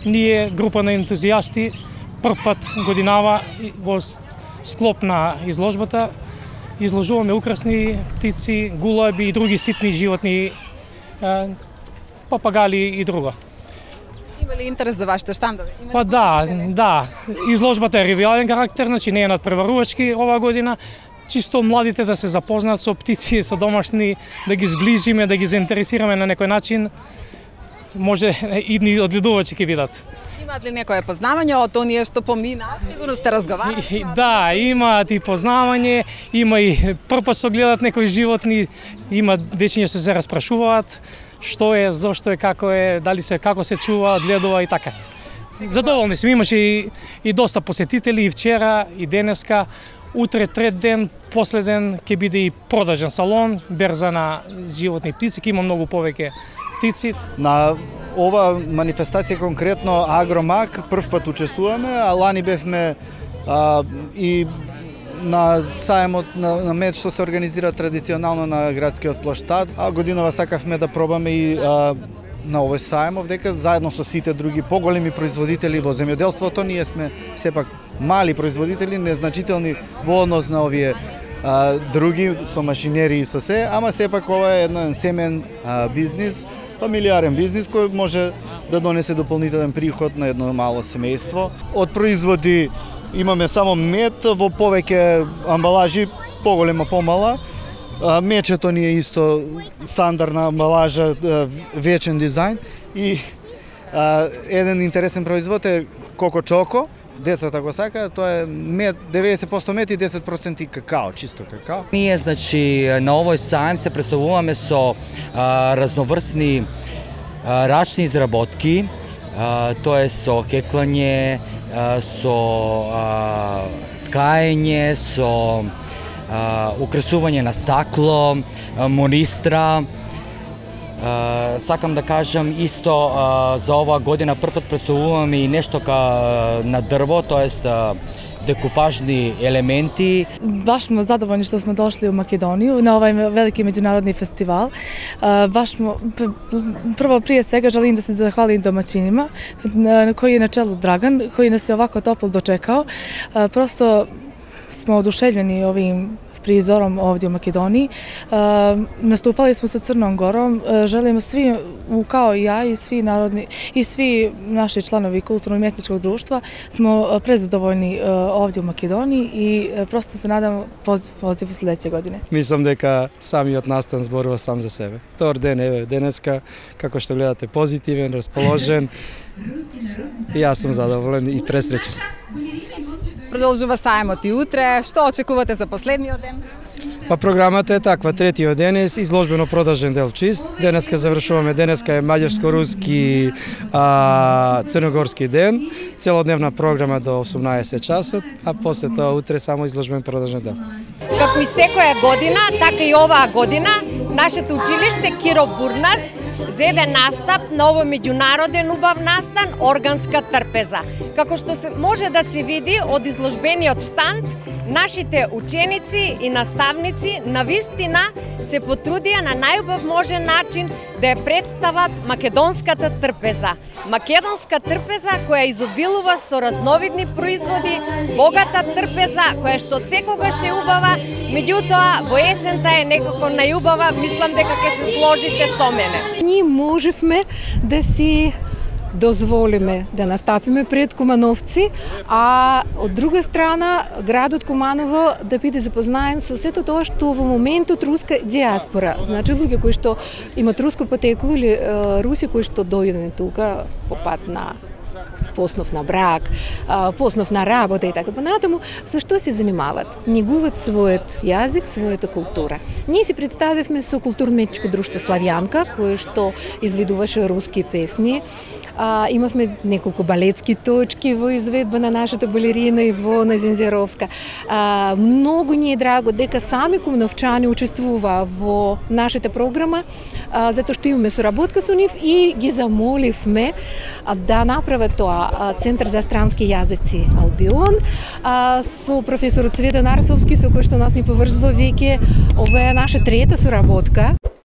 ние група на ентузијасти прв пат годинава во склоп на изложбата изложуваме украсни птици, гулаби и други ситни животни, папагали и друго. Има ли интерес за вашите штандови? Па да. Изложбата е ревиален карактер, значи не е надпреварувачки оваа година. Чисто младите да се запознаат со птици, со домашни, да ги зближиме, да ги заинтересираме на некој начин. Може идни одгледувачи ќе видат. Имаат ли некое познавање од оние што помина? Сигурно сте разговарали. Да, имаат и познавање, има и првпат што гледат некои животни, има дечиња што се распрашуваат што е, зошто е, како е, дали се како се чува, одгледува и така. Задоволни сме, имаше и доста посетители и вчера и денеска. Утре трет ден, последен ќе биде и продажен салон, берза на животни и птици, ќе има многу повеќе птици. На ова манифестација конкретно Агромаг прв пат учествуваме, а лани бевме и на сајмот на мед што се организира традиционално на градскиот плоштад, а годинава сакавме да пробаме и на овој сајм овдека заедно со сите други поголеми производители во земјоделството. Ние сме сепак мали производители, незначителни во однос на овие други со машинери и со се, ама сепак ова е еден семен бизнис, фамилиарен бизнис кој може да донесе дополнителен приход на едно мало семејство. Од производи имаме само мед во повеќе амбалажи, поголема, помала. Мечето ни е исто стандардна амбалажа, вечен дизајн и еден интересен производ е Коко Чоко. Децата го сакаат, тоа е мед, 90% мед и 10% какао, чисто какао. Ние, значи, на овој сајм се представуваме со разноврстни рачни изработки, тоа е со хеклање, со ткаење, со украсување на стакло, монистра. Сакам да кажам исто за оваа година првпат представуваме и нешто на дрво, тоест декупажни елементи. Баш сме задоволни што сме дошли у Македонија на овај велики меѓународни фестивал. Баш сме прво прije свега желим да се захвалим домаќинима, кој е на челу Драган, кој нас е овако топло дочекао. Просто сме одушевljeni овим призором овде у Македонiji. Наступали smo sa Crnom Gorom. Želimo svi, kao i ja i svi narodni i svi naši članovi kulturno-umjetničkog društva smo prezadovoljni ovde u Makedoniji i prosto se nadamo poziv u sledeće godine. Мислам дека самиот настан зборува сам за себе. Втор ден еве денеска, како што гледате, позитивен, расположен. И јас сум задоволен и пресреќен. Продолжува сајмот и утре. Што очекувате за последниот ден? Па програмата е таква, третиот ден е изложбено продажен дел чист. Денеска завршуваме, денеска е маѓарско-руски црногорски ден, целодневна програма до 18 часот, а после тоа утре само изложбен продажен дел. Како и секоја година, така и оваа година, нашето училиште Киро Бурнас зеде настап на овој меѓународен убав настан Органска трпеза. Како што може да се види од изложбениот штанд, нашите ученици и наставници навистина се потрудија на најубав можен начин да ја представат македонската трпеза. Македонска трпеза која изобилува со разновидни производи, богата трпеза која што секогаш е убава, меѓутоа во есента е некако најубава, мислам дека ќе се сложите со мене. Ние можевме да си дозволиме да настапиме пред Кумановци, а од друга страна градот Куманово да биде запознаен со сето тоа што во моментот руска диаспора, значи луѓе кои што имат руско потекло или руси кои што дојдени тука по пат на поснов на брак, поснов на работа и така понатаму, со што се занимават? Негуваат својот јазик, својата култура. Ние си представивме со културно-уметничко друштво Славјанка, кое што изведуваше руски песни. Имавме неколку балетски точки во изведба на нашата балерина Ивона Зензеровска. Многу ни е драго дека сами кумановчани учествува во нашата програма, затоа што имаме соработка со нив и ги замоливме да направат тоа Центар за странски јазици Албион со професорот Цветан Арсовски, со кој што нас ни поврзува веќе. Ова е наша трета соработка.